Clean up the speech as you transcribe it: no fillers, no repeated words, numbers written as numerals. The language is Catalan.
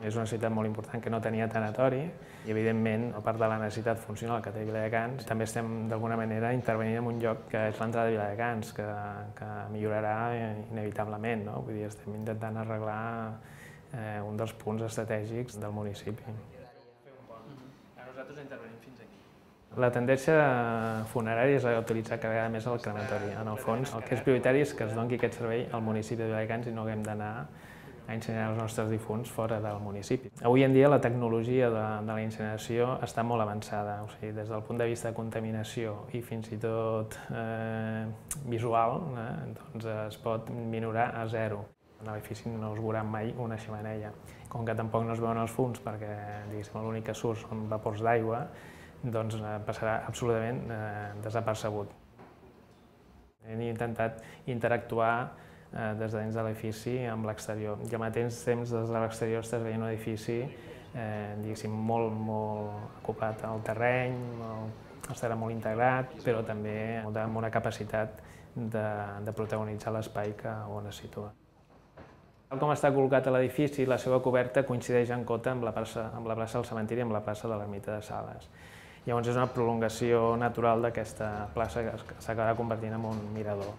És una ciutat molt important que no tenia tanatori i, evidentment, a part de la necessitat funcional que té Viladecans, també estem, d'alguna manera, intervenint en un lloc que és l'entrada de Viladecans, que millorarà inevitablement, no? Vull dir, estem intentant arreglar un dels punts estratègics del municipi. Nosaltres intervenim fins aquí. La tendència funerària és a utilitzar cada vegada més el crematori. En el fons, el que és prioritari és que es doni aquest servei al municipi de Viladecans i no haguem d'anar a incinerar els nostres difunts fora del municipi. Avui en dia la tecnologia de la incineració està molt avançada, o sigui, des del punt de vista de contaminació i fins i tot visual, doncs es pot minorar a zero. A l'edifici no es veurà mai una xemeneia. Com que tampoc no es veuen els fums perquè l'únic que surt són vapors d'aigua, doncs passarà absolutament desapercebut. Hem intentat interactuar des de dins de l'edifici amb l'exterior. I al mateix temps, des de l'exterior estàs veient un edifici molt acoplat al terreny, estarà molt integrat, però també amb una capacitat de protagonitzar l'espai on es situa. Tal com està col·locat a l'edifici, la seva coberta coincideix en cota amb la plaça del cementiri i amb la plaça de l'Ermita de Sales. Llavors és una prolongació natural d'aquesta plaça que s'acabarà convertint en un mirador.